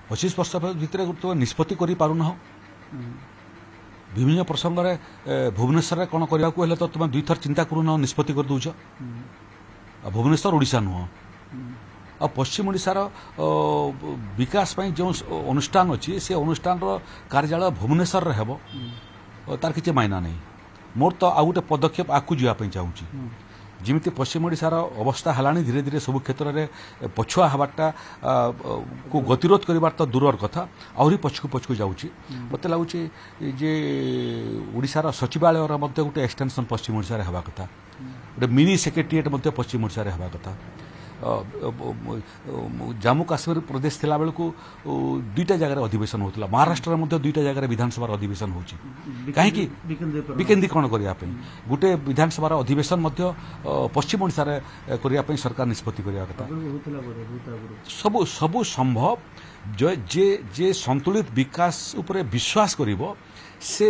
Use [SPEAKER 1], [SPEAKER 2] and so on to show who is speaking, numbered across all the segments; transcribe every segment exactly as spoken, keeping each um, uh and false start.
[SPEAKER 1] ପଚିଶ ବର୍ଷ ଭିତରେ ତୁମେ ନିଷ୍ପତ୍ତି କରିପାରୁନାହ। ବିଭିନ୍ନ ପ୍ରସଙ୍ଗରେ ଭୁବନେଶ୍ୱରରେ କ'ଣ କରିବାକୁ ହେଲେ ତ ତୁମେ ଦୁଇଥର ଚିନ୍ତା କରୁନାହ, ନିଷ୍ପତ୍ତି କରିଦେଉଛ। ଆଉ ଭୁବନେଶ୍ୱର ଓଡ଼ିଶା ନୁହଁ। ଆଉ ପଶ୍ଚିମ ଓଡ଼ିଶାର ବିକାଶ ପାଇଁ ଯେଉଁ ଅନୁଷ୍ଠାନ ଅଛି, ସେ ଅନୁଷ୍ଠାନର କାର୍ଯ୍ୟାଳୟ ଭୁବନେଶ୍ୱରରେ ହେବ, ତାର କିଛି ମାଇନା ନାହିଁ। ମୋର ତ ଆଉ ଗୋଟେ ପଦକ୍ଷେପ ଆଗକୁ ଯିବା ପାଇଁ ଚାହୁଁଛି। ଯେମିତି ପଶ୍ଚିମ ଓଡ଼ିଶାର ଅବସ୍ଥା ହେଲାଣି, ଧୀରେ ଧୀରେ ସବୁ କ୍ଷେତ୍ରରେ ପଛୁଆ ହେବାରଟା କୁ ଗତିରୋଧ କରିବାର ତ ଦୂରର କଥା, ଆହୁରି ପଛକୁ ପଛକୁ ଯାଉଛି। ମୋତେ ଲାଗୁଛି ଯେ ଓଡ଼ିଶାର ସଚିବାଳୟର ମଧ୍ୟ ଗୋଟେ ଏକ୍ସଟେନସନ୍ ପଶ୍ଚିମ ଓଡ଼ିଶାରେ ହେବା କଥା, ଗୋଟେ ମିନି ସେକ୍ରେଟେରିଏଟ୍ ମଧ୍ୟ ପଶ୍ଚିମ ଓଡ଼ିଶାରେ ହେବା କଥା। ଜାମ୍ମୁ କାଶ୍ମୀର ପ୍ରଦେଶ ଥିଲାବେଳକୁ ଦୁଇଟା ଜାଗାରେ ଅଧିବେଶନ ହେଉଥିଲା, ମହାରାଷ୍ଟ୍ରରେ ମଧ୍ୟ ଦୁଇଟା ଜାଗାରେ ବିଧାନସଭାର ଅଧିବେଶନ ହେଉଛି। କାହିଁକି ବିକେନ୍ଦ୍ରୀକରଣ କରିବା ପାଇଁ ଗୋଟେ ବିଧାନସଭାର ଅଧିବେଶନ ମଧ୍ୟ ପଶ୍ଚିମ ଓଡ଼ିଶାରେ କରିବା ପାଇଁ ସରକାର ନିଷ୍ପତ୍ତି କରିବା କଥା। ସବୁ ସବୁ ସମ୍ଭବ। ଯେ ଯେ ସନ୍ତୁଳିତ ବିକାଶ ଉପରେ ବିଶ୍ୱାସ କରିବ, ସେ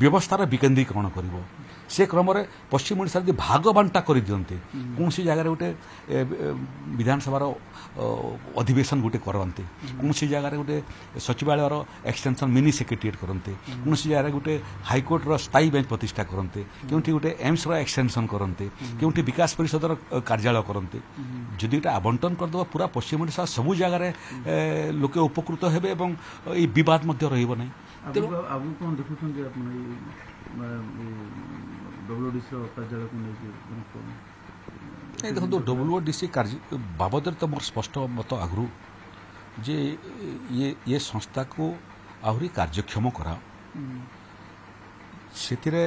[SPEAKER 1] ବ୍ୟବସ୍ଥାର ବିକେନ୍ଦ୍ରୀକରଣ କରିବ। ସେ କ୍ରମରେ ପଶ୍ଚିମ ଓଡ଼ିଶାରେ ଯଦି ଭାଗ ବାଣ୍ଟା କରିଦିଅନ୍ତେ, କୌଣସି ଜାଗାରେ ଗୋଟେ ବିଧାନସଭାର ଅଧିବେଶନ ଗୋଟେ କରନ୍ତେ, କୌଣସି ଜାଗାରେ ଗୋଟେ ସଚିବାଳୟର ଏକ୍ସଟେନସନ୍ ମିନି ସେକ୍ରେଟେରିଏଟ୍ କରନ୍ତେ, କୌଣସି ଜାଗାରେ ଗୋଟେ ହାଇକୋର୍ଟର ସ୍ଥାୟୀ ବେଞ୍ଚ ପ୍ରତିଷ୍ଠା କରନ୍ତେ, କେଉଁଠି ଗୋଟେ ଏମ୍ସର ଏକ୍ସଟେନସନ୍ କରନ୍ତେ, କେଉଁଠି ବିକାଶ ପରିଷଦର କାର୍ଯ୍ୟାଳୟ କରନ୍ତେ, ଯଦି ଏଇଟା ଆବଣ୍ଟନ କରିଦେବ ପୁରା ପଶ୍ଚିମ ଓଡ଼ିଶା ସବୁ ଜାଗାରେ ଲୋକେ ଉପକୃତ ହେବେ ଏବଂ ଏଇ ବିବାଦ ମଧ୍ୟ ରହିବ ନାହିଁ।
[SPEAKER 2] ତେଣୁ ଆଗକୁ କ'ଣ ଦେଖୁଛନ୍ତି ଆପଣ ଡବ୍ଲ୍ୟୁଡିସିର କାର୍ଯ୍ୟାଳୟକୁ ନେଇକି?
[SPEAKER 1] ନାଇଁ, ଦେଖନ୍ତୁ, ଡବ୍ଲ୍ୟୁଡିସି କାର୍ଯ୍ୟ ବାବଦରେ ତ ମୋର ସ୍ପଷ୍ଟ ମତ ଆଗରୁ ଯେ ଇଏ ଇଏ ସଂସ୍ଥାକୁ ଆହୁରି କାର୍ଯ୍ୟକ୍ଷମ କରାଅ। ସେଥିରେ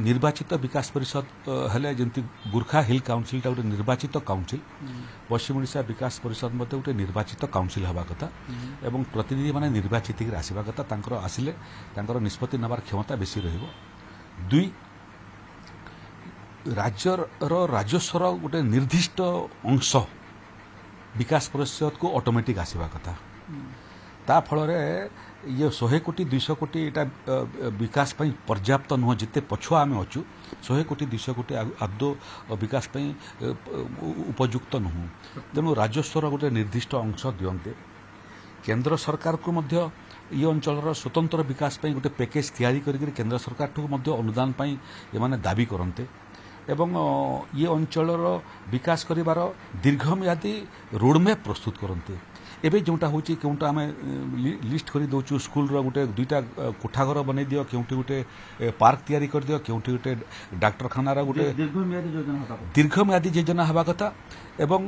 [SPEAKER 1] ନିର୍ବାଚିତ ବିକାଶ ପରିଷଦ ହେଲେ, ଯେମିତି ଗୁର୍ଖା ହିଲ୍ କାଉନସିଲଟା ଗୋଟେ ନିର୍ବାଚିତ କାଉନସିଲ, ପଶ୍ଚିମ ଓଡ଼ିଶା ବିକାଶ ପରିଷଦ ମଧ୍ୟ ଗୋଟେ ନିର୍ବାଚିତ କାଉନସିଲ ହେବା କଥା ଏବଂ ପ୍ରତିନିଧିମାନେ ନିର୍ବାଚିତ ହେଇକି ଆସିବା କଥା। ତାଙ୍କର ଆସିଲେ ତାଙ୍କର ନିଷ୍ପତ୍ତି ନେବାର କ୍ଷମତା ବେଶୀ ରହିବ। ଦୁଇ, ରାଜ୍ୟର ରାଜସ୍ୱର ଗୋଟେ ନିର୍ଦ୍ଦିଷ୍ଟ ଅଂଶ ବିକାଶ ପରିଷଦକୁ ଅଟୋମେଟିକ୍ ଆସିବା କଥା। ତା ଫଳରେ ଇଏ ଶହେ କୋଟି ଦୁଇଶହ କୋଟି ଏଇଟା ବିକାଶ ପାଇଁ ପର୍ଯ୍ୟାପ୍ତ ନୁହଁ। ଯେତେ ପଛୁଆ ଆମେ ଅଛୁ, ଶହେ କୋଟି ଦୁଇଶହ କୋଟି ଆଦୌ ବିକାଶ ପାଇଁ ଉପଯୁକ୍ତ ନୁହଁ। ତେଣୁ ରାଜସ୍ୱର ଗୋଟେ ନିର୍ଦ୍ଦିଷ୍ଟ ଅଂଶ ଦିଅନ୍ତେ, କେନ୍ଦ୍ର ସରକାରକୁ ମଧ୍ୟ ଇଏ ଅଞ୍ଚଳର ସ୍ୱତନ୍ତ୍ର ବିକାଶ ପାଇଁ ଗୋଟେ ପ୍ୟାକେଜ୍ ତିଆରି କରିକି କେନ୍ଦ୍ର ସରକାରଠୁ ମଧ୍ୟ ଅନୁଦାନ ପାଇଁ ଏମାନେ ଦାବି କରନ୍ତେ ଏବଂ ଇଏ ଅଞ୍ଚଳର ବିକାଶ କରିବାର ଦୀର୍ଘମିଆଦୀ ରୋଡ଼ମ୍ୟାପ୍ ପ୍ରସ୍ତୁତ କରନ୍ତେ। ଏବେ ଯେଉଁଟା ହେଉଛି, କେଉଁଟା ଆମେ ଲିଷ୍ଟ କରିଦେଉଛୁ, ସ୍କୁଲର ଗୋଟେ ଦୁଇଟା କୋଠାଘର ବନେଇ ଦିଅ, କେଉଁଠି ଗୋଟେ ପାର୍କ ତିଆରି କରିଦିଅ, କେଉଁଠି ଗୋଟେ ଡାକ୍ତରଖାନାର ଗୋଟେ ଦୀର୍ଘମିଆଦୀ ଯୋଜନା ହେବା କଥା। ଏବଂ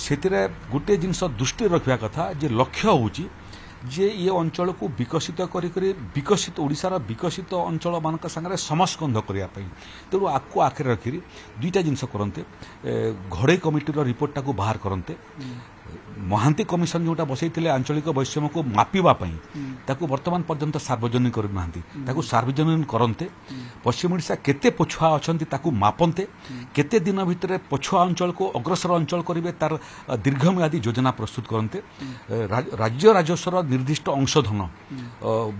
[SPEAKER 1] ସେଥିରେ ଗୋଟିଏ ଜିନିଷ ଦୃଷ୍ଟିରେ ରଖିବା କଥା ଯେ ଲକ୍ଷ୍ୟ ହେଉଛି ଯେ ଇଏ ଅଞ୍ଚଳକୁ ବିକଶିତ କରି କରି ବିକଶିତ ଓଡ଼ିଶାର ବିକଶିତ ଅଞ୍ଚଳମାନଙ୍କ ସାଙ୍ଗରେ ସମସ୍କନ୍ଧ କରିବା ପାଇଁ। ତେଣୁ ଆକୁ ଆଖିରେ ରଖିକି ଦୁଇଟା ଜିନିଷ କରନ୍ତେ। ଘଡ଼େଇ କମିଟିର ରିପୋର୍ଟଟାକୁ ବାହାର କରନ୍ତେ। ମହାନ୍ତି କମିଶନ ଯେଉଁଟା ବସେଇଥିଲେ ଆଞ୍ଚଳିକ ବୈଷମ୍ୟକୁ ମାପିବା ପାଇଁ, ତାକୁ ବର୍ତ୍ତମାନ ପର୍ଯ୍ୟନ୍ତ ସାର୍ବଜନୀନ କରିନାହାନ୍ତି, ତାକୁ ସାର୍ବଜନୀନ କରନ୍ତେ। ପଶ୍ଚିମ ଓଡ଼ିଶା କେତେ ପଛୁଆ ଅଛନ୍ତି ତାକୁ ମାପନ୍ତେ। କେତେ ଦିନ ଭିତରେ ପଛୁଆ ଅଞ୍ଚଳକୁ ଅଗ୍ରସର ଅଞ୍ଚଳ କରିବେ, ତାର ଦୀର୍ଘମିଆଦୀ ଯୋଜନା ପ୍ରସ୍ତୁତ କରନ୍ତେ। ରାଜ୍ୟ ରାଜସ୍ୱର ନିର୍ଦ୍ଦିଷ୍ଟ ଅଂଶଧନ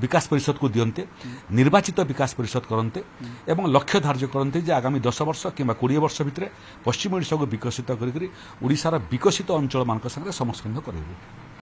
[SPEAKER 1] ବିକାଶ ପରିଷଦକୁ ଦିଅନ୍ତେ, ନିର୍ବାଚିତ ବିକାଶ ପରିଷଦ କରନ୍ତେ ଏବଂ ଲକ୍ଷ୍ୟ ଧାର୍ଯ୍ୟ କରନ୍ତେ ଯେ ଆଗାମୀ ଦଶ ବର୍ଷ କିମ୍ବା କୋଡ଼ିଏ ବର୍ଷ ଭିତରେ ପଶ୍ଚିମ ଓଡ଼ିଶାକୁ ବିକଶିତ କରିକରି ଓଡ଼ିଶାର ବିକଶିତ ଅଞ୍ଚଳମାନଙ୍କ ସାଙ୍ଗରେ ସମସ୍କନ୍ଧ କରିବୁ।